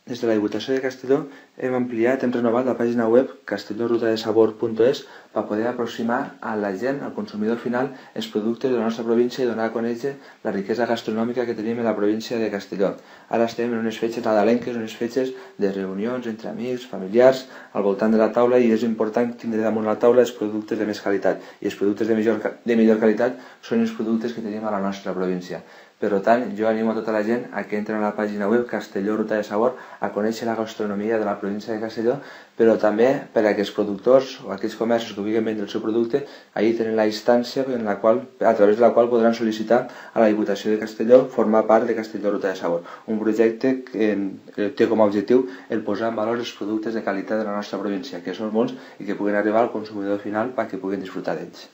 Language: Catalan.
Des de la Diputació de Castelló hem ampliat, hem renovat la pàgina web castellorrutadesabor.es per poder aproximar a la gent, al consumidor final, els productes de la nostra província i donar a conèixer la riquesa gastronòmica que tenim en la província de Castelló. Ara estem en unes fetges nadalenques, unes fetges de reunions entre amics, familiars, al voltant de la taula, i és important tindre damunt la taula els productes de més qualitat. I els productes de millor qualitat són els productes que tenim a la nostra província. Per tant, jo animo a tota la gent a que entren a la pàgina web Castelló Ruta de Sabor a conèixer la gastronomia de la província de Castelló, però també per a que els productors o aquells comerços que vulguin vendre el seu producte allí tenen la instància a través de la qual podran sol·licitar a la Diputació de Castelló formar part de Castelló Ruta de Sabor, un projecte que té com a objectiu el posar en valor els productes de qualitat de la nostra província, que són molts i que puguin arribar al consumidor final perquè puguin disfrutar d'ells.